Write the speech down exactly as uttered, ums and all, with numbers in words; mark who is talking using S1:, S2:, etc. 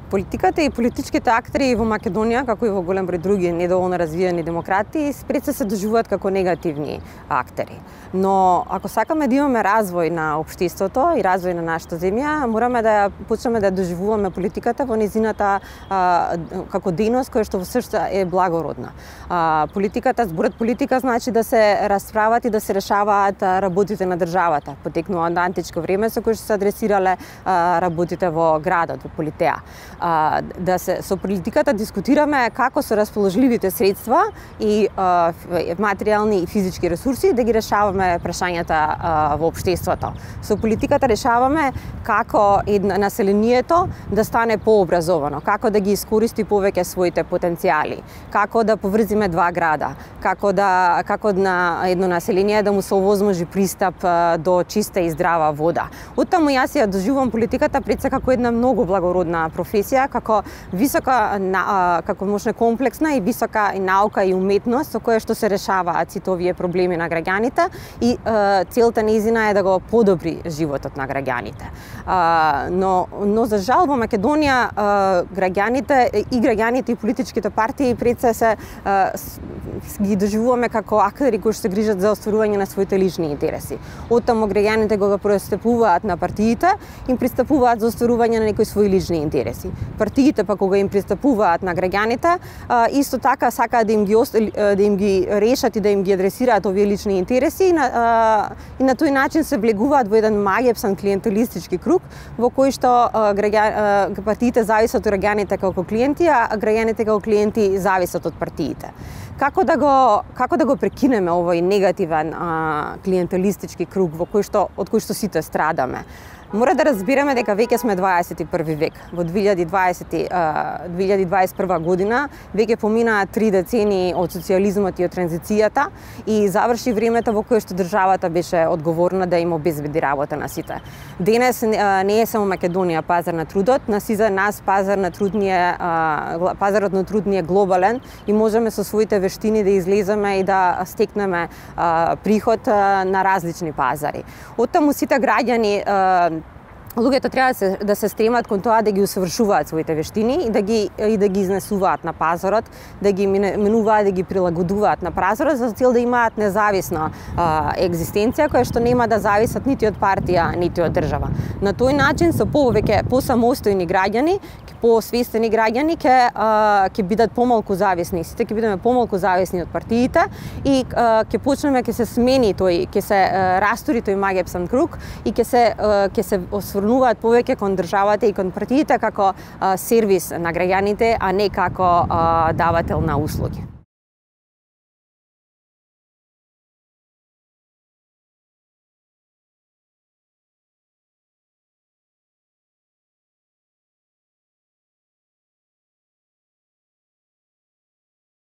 S1: Политиката и политичките актери во Македонија, како и во голем број други недоволно развиени демократи, пред се се доживуваат како негативни актери. Но ако сакаме да имаме развој на општеството и развој на нашата земја, мораме да ја почнеме да доживуваме политиката во незината а, како дејност која што во срцето е благородна. А, политиката, зборот политика значи да се расправат и да се решаваат работите на државата. Потекнува од античко време со кои што се адресирале а, работите во градот, во Политеја. А, да се со политиката дискутираме како со расположливите средства и а, материјални и физички ресурси да ги решаваме прашањата а, во општеството. Со политиката решаваме како едно населението да стане пообразовано, како да ги искористи повеќе своите потенцијали, како да поврзиме два града, како да како на едно население да му се овозможи пристап а, до чиста и здрава вода. Оттаму јас ја доживувам политиката пред се како една многу благородна професија, како висока, како можне комплексна и висока и наука и уметност со која што се решаваат сите овие проблеми на граѓаните и е, целта нејзина е да го подобри животот на граѓаните. Е, но, но за жал во Македонија е, граѓаните и граѓаните и политичките партии пред се се ги доживуваме како актери кои што се грижат за остварување на своите лични интереси. Оттаму граѓаните кога пристапуваат на партиите, им пристапуваат за остварување на некои своји лични интереси. Партиите па кога им пристапуваат на граѓаните, исто така сакаат да им ги да им ги решат и да им ги адресираат овие лични интереси и на, и на тој начин се влегуваат во еден маѓепсан клиентелистички круг во кој што граѓа, партиите зависат од граѓаните како клиенти, а граѓаните како клиенти зависат од партиите. Како да го како да го прекинеме овој негативен а, клиентелистички круг во кој што од кој што сите страдаме? Мора да разбираме дека веќе сме дваесет и први век. Во две илјади и дваесет и прва година веќе поминаа три децении од социјализмот и од транзицијата и заврши времето во кое што државата беше одговорна да им обезбеди работа на сите. Денес не е само Македонија пазар на трудот, на сите нас пазар на труд ни е, пазарот на труд ни е глобален и можеме со своите вештини да излеземе и да стекнеме приход на различни пазари. Оттаму сите граѓани луѓето треба да се, да се стремат кон тоа да ги усовршуваат своите вештини и да ги и да ги изнесуваат на пазарот, да ги менуваат, да ги прилагодуваат на пазарот за цел да имаат независна а, екзистенција која што нема да зависат нити од партија, нити од држава. На тој начин со повеќе посамостојни граѓани, посвестени граѓани ќе ќе бидат помалку зависни, сите ќе бидеме помалку зависни од партиите и ќе почнеме ќе се смени тој, ќе се а, растури тој маѓепсан круг и ќе се ќе се осврнуваат повеќе кон државата и кон партиите како а, сервис на граѓаните, а не како а, давател на услуги.